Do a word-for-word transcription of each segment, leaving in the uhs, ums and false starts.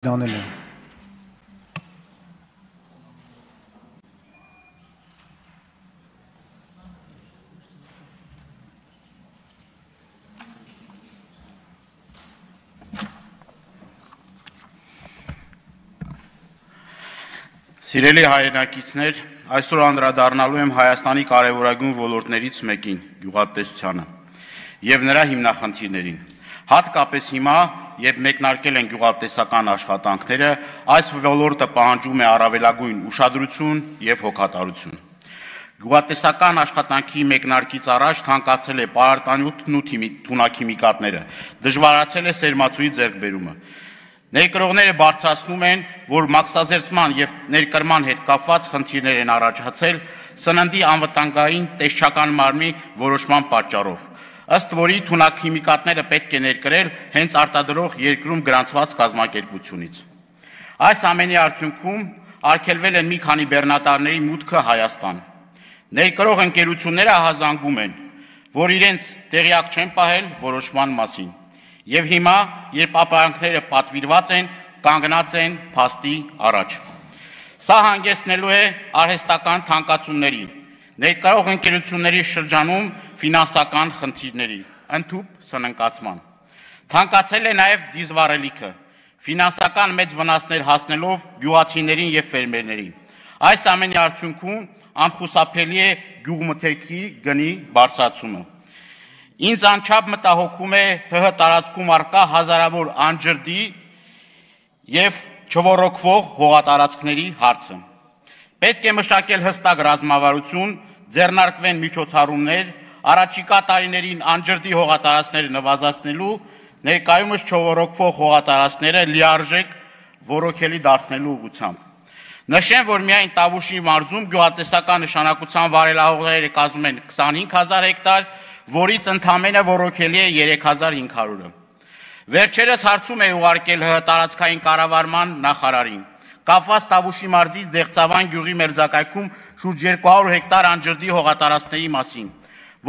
Դանելյան։ Սիրելի հայրենակիցներ, այսօր անդրադառնալու եմ Հայաստանի կարևորագույն ոլորտներից մեկին՝ գյուղատնտեսությանը եւ նրա հիմնախնդիրներին։ Հատկապես հիմա, երբ մեկնարկել են գյուղատնտեսական աշխատանքները, այս ոլորտը պահանջում է առավելագույն ուշադրություն եւ հոգատարություն։ Գյուղատնտեսական աշխատանքի մեկնարկից առաջ թանկացել է պարարտանյութն ու թունաքիմիկատները, դժվարացել է սերմացուի ձեռքբերումը։ Ներկրողները բարձրացնում են, որ մաքսազերծման եւ ներկրման հետ կապված խնդիրներ են առաջացել սննդի անվտանգային տեսչական մարմնի որոշման պատճառով, ըստ որի թունաքիմիկատները պետք է ներկրել հենց արտադրող երկրում գրանցված կազմակերպությունից։ Այս ամենի արդյունքում արգելվել են մի քանի բեռնատարների մուտքը Հայաստան։ Ներկրող ընկերությունները ահազանգում են, որ իրենց տեղյակ չեն պահել որոշման մասին։ Եվ հիմա, երբ ապրանքները պատվիրված են, կանգնած են փաստի առաջ։ Սա հանգեցնելու է արհեստական թանկացումների, ներկրող ընկերությունների շրջանում ֆինանսական խնդիրների, ընդհուպ սնանկացման։ Թանկացել է նաև դիզվառելիքը, ֆինանսական մեծ վնասներ հասնելով գյուղացիներին եւ ֆերմերներին։ Այս ամենի արդյունքում անխուսափելի է գյուղմթերքի գնի բարձրացումը։ Ինձ անչափ մտահոգում է ՀՀ տարածքում առկա հազարավոր անջրդի եւ չոռոկվող հողատարածքների հարցը։ Պետք է մշակել հստակ ռազմավարություն, ձեռնարկվեն միջոցառումներ, առաջիկա տարիներին անջրդի հողատարածքները նվազեցնելու, ներկայումս չոռոկվող հողատարածքները լիարժեք ոռոգելի դարձնելու ուղղությամբ։ Նշեմ, որ միայն Տավուշի մարզում գյուղատնտեսական նշանակության վարելահողերը կազմում են քսանհինգ հազար հեկտար, որից ընդամենը ոռոգելի է երեք հազար հինգ հարյուրը։ Վերջերս հարցում է ուղարկել ՀՀ տարածքային կառավարման նախարարին, կապված Տավուշի մարզի Ձեղծավան գյուղի մերձակայքում շուրջ երկու հարյուր հեկտար անջրդի հողատարածքների մասին,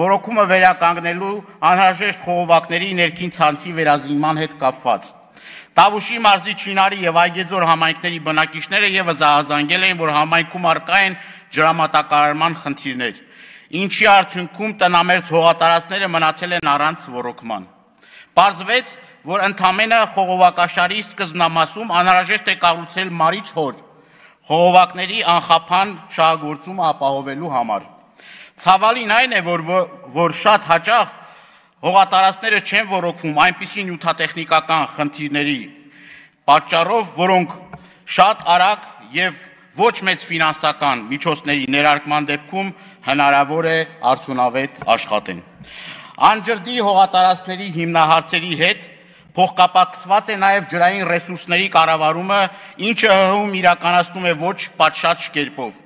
ոռոգումը վերականգնելու անհրաժեշտ խողովակների ներքին ցանցի վերազինման հետ կապված։ Տավուշի մարզի Չինարի եւ Այգեձոր համայնքների բնակիչները եւս ահազանգել են, որ համայնքում առկա են ջրամատակարարման խնդիրներ, ինչի արդյունքում տնամերձ հողատարածքները մնացել են առանց ոռոգման։ Պարզվեց, որ ընդամենը խողովակաշարի սկզբնամասում անհրաժեշտ է կառուցել մարիչ հոր, խողովակների անխափան շահագործումը ապահովելու համար։ Ցավալին այն է, որ, որ շատ հաճախ հողատարածքները չեն ոռոգվում այնպիսի նյութատեխնիկական խնդիրների պատճառով, որոնք շատ արագ եւ ոչ մեծ ֆինանսական միջոցների ներարկման դեպքում հնարավոր է արդյունավետ աշխատեն։ Անջրդի հողատարածքների հիմնահարցերի հետ փոխկապակցված է նաև ջրային ռեսուրսների կառավարումը, ինչը ՀՀ-ում իրականացնում է ոչ պատշաճ կերպով։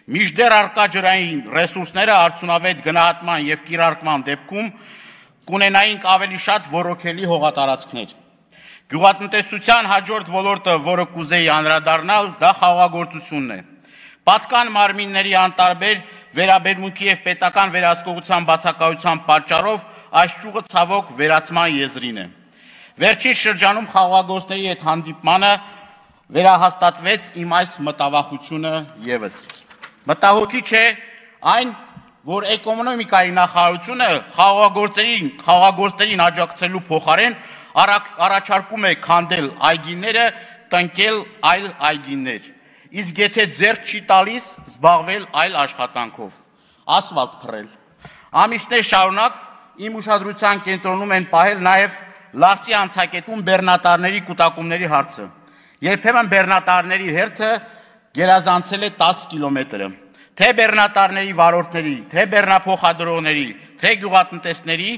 Մինչդեռ առկա ջրային ռեսուրսները արդյունավետ գնահատման եւ կիրարկման դեպքում կունենայինք ավելի շատ ոռոգելի հողատարածքներ։ Գյուղատնտեսության հաջորդ ոլորտը, որը կուզեի անդրադառնալ, դա խաղաղագործությունն է։ Պատկան մարմինների անտարբեր վերաբերմունքի եւ պետական վերահսկողության բացակայության պատճառով այս ճյուղը ցավոք վերացման եզրին է։ Վերջին շրջանում խաղաղագործների հետ հանդիպմանը վերահաստատվեց իմ այս մտավախությունը եւս։ Մտահոգիչ է այն, որ էկոնոմիկայի նախարարությունը խաղաղագործերին, խաղաղագործերին աջակցելու փոխարեն առաջարկում է քանդել այգիները, տնկել այլ այգիներ, իսկ եթե ձեռք չի տալիս, զբաղվել այլ աշխատանքով, ասֆալտ փռել։ Ամիսներ շարունակ իմ ուշադրության կենտրոնում են պահել նաև Լարսի անցակետում բեռնատարների կուտակումների հարցը։ Երբեմն բեռնատարների հերթը գերազանցել է տասը կիլոմետրը։ Թե բեռնատարների վարորդների, թե բեռնափոխադրողների, թե գյուղատնտեսների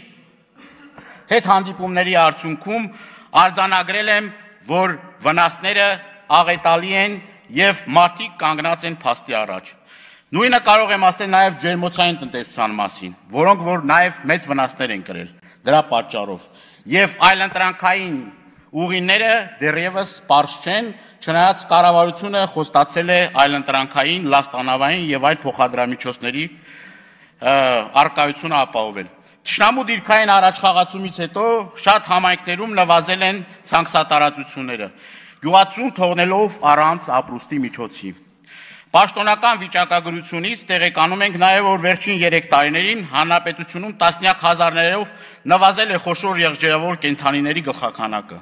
հետ հանդիպումների արդյունքում արձանագրել եմ, որ վնասները աղետալի են եւ մարդիկ կանգնած են փաստի առաջ։ Նույնը կարող եմ ասել նաեւ ջերմոցային տնտեսության մասին, որոնք որ նաեւ մեծ վնասներ են կրել դրա պատճառով։ Եվ այլընտրանքային ուղիները դեռևս պարզ չեն, չնայած կառավարությունը խոստացել է այլընտրանքային, լաստանավային եւ այլ փոխադրամիջոցների արկայությունը ապահովել։ Թշնամու դիրքային առաջխաղացումից հետո շատ համայնքներում նվազել են ցանքսատարածությունները։ գյուղացուն թողնելով առանց ապրուստի միջոցի։ Պաշտոնական վիճակագրությունից տեղեկանում ենք նաև, որ վերջին երեք տարիներին հանրապետությունում տասնյակ հազարներով նվազել է խոշոր եղջերավոր կենդանիների գլխաքանակը։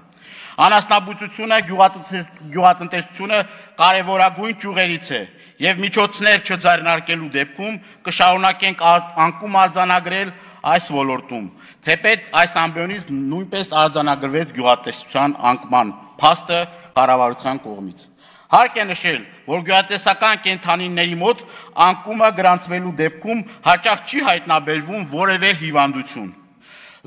Անասնաբուծությունը, գյուղատնտեսությունը կարևորագույն ճյուղերից է եւ միջոցներ չձեռնարկելու դեպքում կշարունակենք անկում արձանագրել այս ոլորտում, թեպետ այս ամբիոնից նույնպես արձանագրվեց գյուղատնտեսության անկման փաստը կառավարության կողմից։ Հարկ է նշել, որ գյուղատնտեսական կենդանիների մոտ անկումը գրանցվելու դեպքում հաճախ չի հայտնաբերվում որևէ հիվանդություն։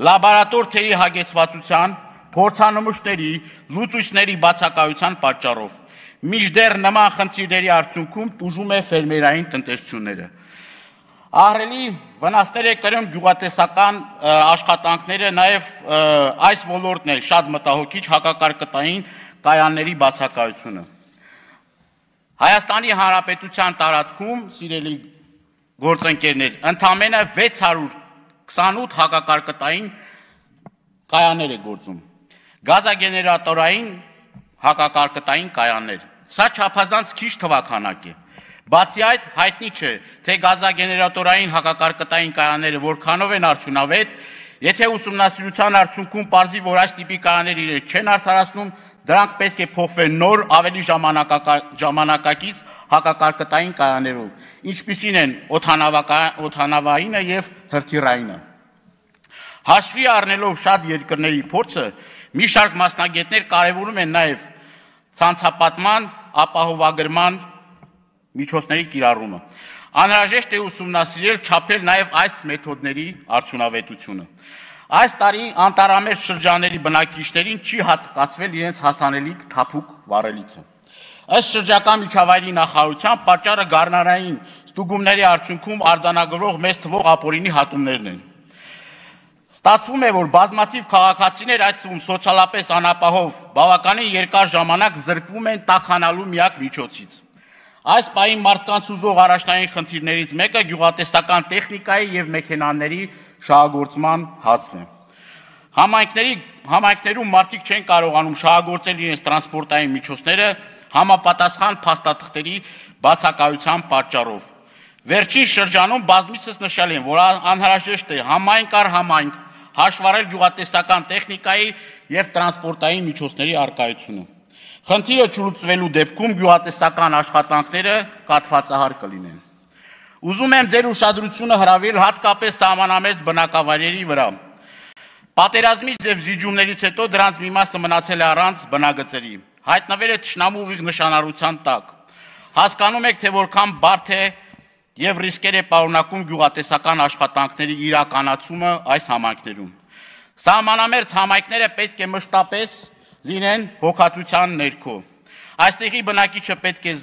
Լաբորատոր թերի հագեցվածության, փորձանմուշների, լուծույցների բացակայության պատճառով մինչդեռ նման խնդիրների արդյունքում տուժում է ֆերմերային տնտեսությունները։ Ահռելի վնասներ է կրում գյուղատնտեսական աշխատանքները, նաև այս ոլորտն է շատ մտահոգիչ հակակարկտային կայանների բացակայությունը։ Հայաստանի Հանրապետության տարածքում, սիրելի գործընկերներ, ընդամենը վեց հարյուր քսանութ հակակարկտային կայաններ է գործում, գազագեներատորային հակակարկտային կայաններ։ Սա չափազանց քիչ թվաքանակ է։ Բացի այդ, հայտնի չէ, թե գազագեներատորային հակակարկտային կայանները որքանով են արդյունավետ, եթե ուսումնասիրության արդյունքում պարզվի, որ այս տիպի կայաններ իրենց չեն արդարացնում, դրանք պետք է փոխվեն նոր, ավելի ժամանակակից հակակարկտային կայաններով, ինչպիսին են օդանավայինը եւ հրթիռայինը։ Հաշվի առնելով շատ երկրների փորձը, մի շարք մասնագետներ կարևորում են նաև ցանցապատման, ապահովագրման միջոցների կիրառումը։ Անհրաժեշտ է ուսումնասիրել, չափել նաև այս մեթոդների արդյունավետությունը։ Այս տարի անտառամերձ շրջանների բնակիչներին չի հատկացվել իրենց հասանելիք թափուկ վառելիքը։ Ըստ շրջակա միջավայրի նախարարության պատճառը գարնանային ստուգումների արդյունքում արձանագրվող մեծ թվով ապօրինի հատումներն են։ Ստացվում է, որ բազմաթիվ քաղաքացիներ, այդ թվում սոցիալապես անապահով, բավականին երկար ժամանակ զրկվում են տաքանալու միակ միջոցից։ Այս պահին մարդկանց ուզող առաջնային խնդիրներից մեկը գյուղատնտեսական տեխնիկայի եւ մեքենաների շահագործման հարցն է։ Համայնքներում մարդիկ չեն կարողանում շահագործել իրենց տրանսպորտային միջոցները համապատասխան փաստաթղթերի բացակայության պատճառով։ Վերջին շրջանում բազմիցս նշել են, որ անհրաժեշտ է համայնք առ համայնք հաշվառել գյուղատնտեսական տեխնիկայի եւ տրանսպորտային միջոցների առկայությունը։ Խնդիրը չլուծվելու դեպքում գյուղատնտեսական աշխատանքները կաթվածահար կլինեն։ Ուզում եմ ձեր ուշադրությունը հրավիրել հատկապես սահմանամերձ բնակավայրերի վրա։ Պատերազմից եւ զիջումներից հետո դրանց մի մասը մնացել է առանց բնագծերի, հայտնվել է թշնամու ուղիղ նշանառության տակ։ Հասկանում եք, թե որքան բարդ է եւ ռիսկեր է պարունակում գյուղատնտեսական աշխատանքների իրականացումը այս համայնքներում։ Սահմանամերձ համայնքները պետք է մշտապես լինեն հոգատության ներքո։ Այստեղի բնակիչը պետք է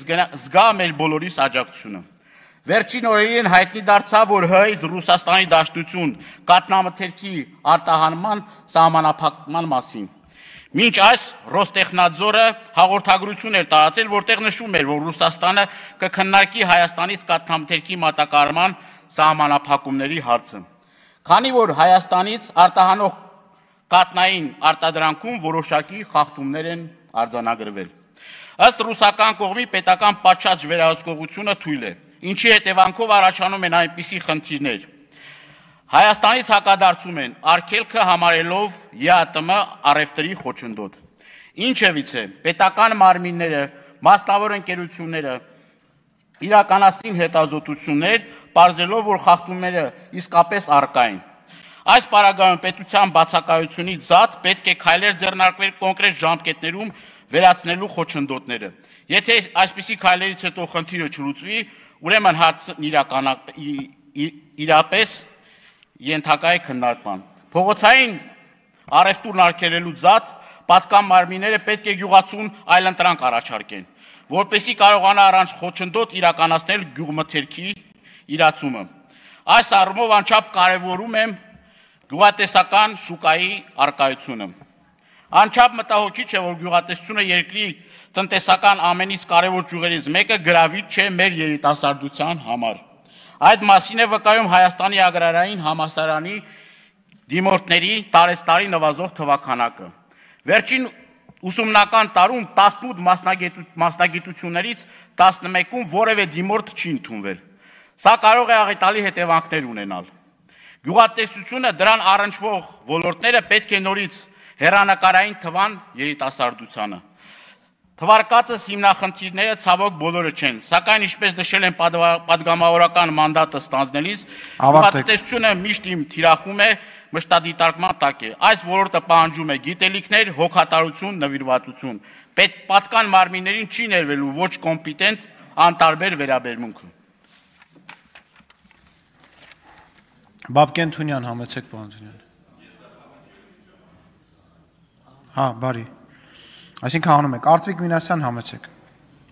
զգա մեր բոլորիս աջակցությունը։ Վերջին օրերին հայտնի դարձավ, որ Հայ Ռուսաստանի Դաշնություն կաթնամթերքի արտահանման սահմանափակման մասին։ Մինչ այս Ռոստեխնադզորը հաղորդագրություն էր տարածել, որտեղ նշում էր, որ Ռուսաստանը կքննարկի Հայաստանից կաթնամթերքի մատակարարման սահմանափակումների հարցը։ Քանի որ Հայաստանից արտահանող կաթնային արտադրանքում որոշակի խախտումներ են արձանագրվել։ Ըստ ռուսական կողմի պետական պատշաճ վերահսկողությունը թույլ է, ինչի հետևանքով առաջանում են այնպիսի խնդիրներ։ Հայաստանից հակադարձում են արգելքը համարելով ԵԱՏՄ առևտրի խոչընդոտ։ Ինչևից է, պետական մարմինները, մասնավոր ընկերությունները իրականացին հետազոտություններ, պարզելով, որ խախտումները իսկապես առկա են։ Այս պարագայում պետության բացակայությունից զատ պետք է քայլեր ձեռնարկվել կոնկրետ ժամկետներում վերացնելու խոչընդոտները։ Եթե այսպիսի քայլերից հետո խնդիրը չլուծվի, ուրեմն հարցն իրապես ենթակա է քննարկման։ Փողոցային առևտուրն արգելելու զատ պատկան մարմինները պետք է գյուղացուն այլընտրանք առաջարկեն, որպեսզի կարողանա առանց խոչընդոտ իրականացնել գյուղմթերքի իրացումը։ Այս առումով անչափ կարևորում եմ գյուղատնտեսական շուկայի առկայությունը։ Անչափ մտահոգիչ է, որ գյուղատնտեսությունը երկրի տնտեսական ամենից կարևոր ճյուղերից մեկը գրավիչ չէ մեր երիտասարդության համար։ Այդ մասին է վկայում Հայաստանի agrarային համալսարանի դիմորդների տարեստարի նվազող թվաքանակը։ Վերջին ուսումնական տարում տասնութ մասնագիտություններից տասնմեկում որևէ դիմորդ չի ընդունվել։ Սա կարող է աղետալի հետևանքներ ունենալ։ Գյուղատնտեսությունը դրան առնչվող ոլորտները պետք է նորից հեռանկարային թվան երիտասարդությանը։ Թվարկածս հիմնախնդիրները ցավոք բոլորը չեն, սակայն ինչպես նշել են падգամավորական մանդատը ստանձնելիս, գյուղատնտեսությունը միշտ իմ թիրախում է մշտադիտարկման տակ է։ Այս ոլորտը պահանջում է գիտելիքներ, հոգատարություն, նվիրվածություն։ Պատկան մարմիններին չի ներվելու ոչ կոմպետենտ, անտարբեր վերաբերմունքը։ Բաբկեն Թունյան, համեցեք պարոն Թունյան։ Հա, բարի։ Այսինքն հանում եք, Արծվիկ Մինասյան, համեցեք։